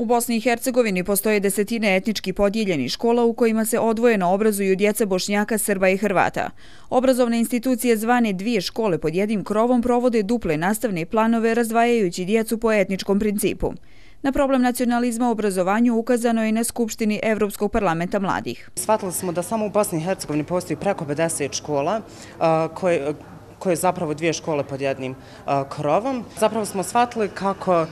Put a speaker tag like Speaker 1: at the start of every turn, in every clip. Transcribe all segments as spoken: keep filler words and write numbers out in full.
Speaker 1: U Bosni i Hercegovini postoje desetine etnički podijeljenih škola u kojima se odvojeno obrazuju djeca Bošnjaka, Srba i Hrvata. Obrazovne institucije zvane dvije škole pod jednim krovom provode duple nastavne planove razdvajajući djecu po etničkom principu. Na problem nacionalizma u obrazovanju ukazano je na Skupštini Evropskog parlamenta mladih.
Speaker 2: Shvatili smo da samo u Bosni i Hercegovini postoji preko pedeset škola koje koje je zapravo dvije škole pod jednim krovom. Zapravo smo shvatili kako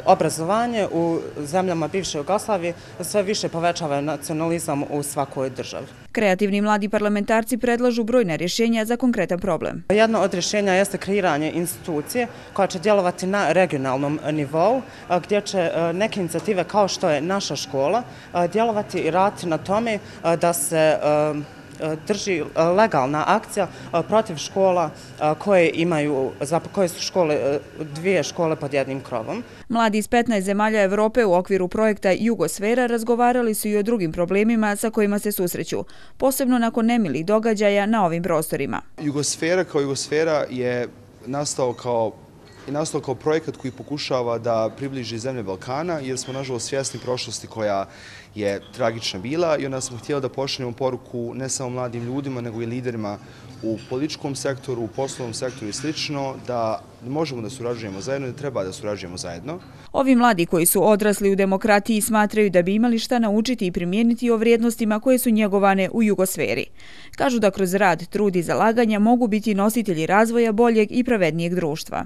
Speaker 2: obrazovanje u zemljama bivše Jugoslavije sve više povećava nacionalizam u svakoj državi.
Speaker 1: Kreativni mladi parlamentarci predlažu brojna rješenja za konkretan problem.
Speaker 2: Jedno od rješenja jeste kreiranje institucije koja će djelovati na regionalnom nivou, gdje će neke inicijative kao što je naša škola djelovati i raditi na tome da se drži legalna akcija protiv škola koje imaju, koje su škole, dvije škole pod jednim krovom.
Speaker 1: Mladi iz petnaest zemalja Evrope u okviru projekta Jugosfera razgovarali su i o drugim problemima sa kojima se susreću, posebno nakon nemilih događaja na ovim prostorima.
Speaker 3: Jugosfera kao Jugosfera je nastao kao i nastao kao projekat koji pokušava da približi zemlje Balkana, jer smo nažalost svjesni prošlosti koja je tragična bila i onda smo htjeli da pošaljemo poruku ne samo mladim ljudima, nego i liderima u političkom sektoru, u poslovnom sektoru i slično, da možemo da surađujemo zajedno i da treba da surađujemo zajedno.
Speaker 1: Ovi mladi koji su odrasli u demokratiji smatraju da bi imali šta naučiti i primijeniti o vrijednostima koje su njegovane u Jugosferi. Kažu da kroz rad, trud i zalaganja mogu biti nositelji razvoja boljeg i pravednijeg društva.